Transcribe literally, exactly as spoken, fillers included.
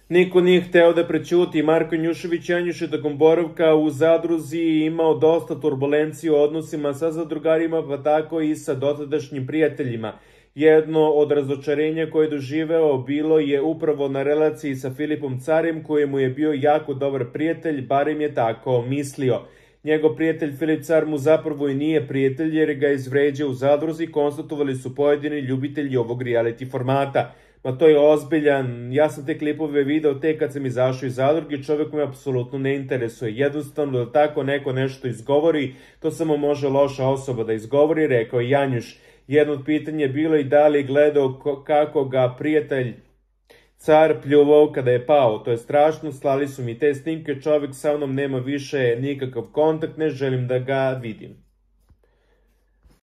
Niko nije hteo da prećuti. Marko Janjušević Janjuš je tokom boravka u zadruzi imao dosta turbulencije u odnosima sa zadrugarima, pa tako i sa dotadašnjim prijateljima. Jedno od razočarenja koje je doživeo bilo je upravo na relaciji sa Filipom Carim, kojemu je bio jako dobar prijatelj, barem je tako mislio. Njegov prijatelj Filip Car mu zapravo i nije prijatelj jer ga izvređao u zadruzi, konstatovali su pojedini ljubitelji ovog reality formata. Ma to je ozbiljan, ja sam te klipove video tek kad sam izašao iz zadruge, čovjek me apsolutno ne interesuje. Jednostavno da tako neko nešto izgovori, to samo može loša osoba da izgovori, rekao je Janjuš. Jedno od pitanja je bilo i da li gledao kako ga prijatelj Car pljuvao kada je pao. To je strašno, slali su mi te snimke, čovjek sa mnom nema više nikakav kontakt, ne želim da ga vidim.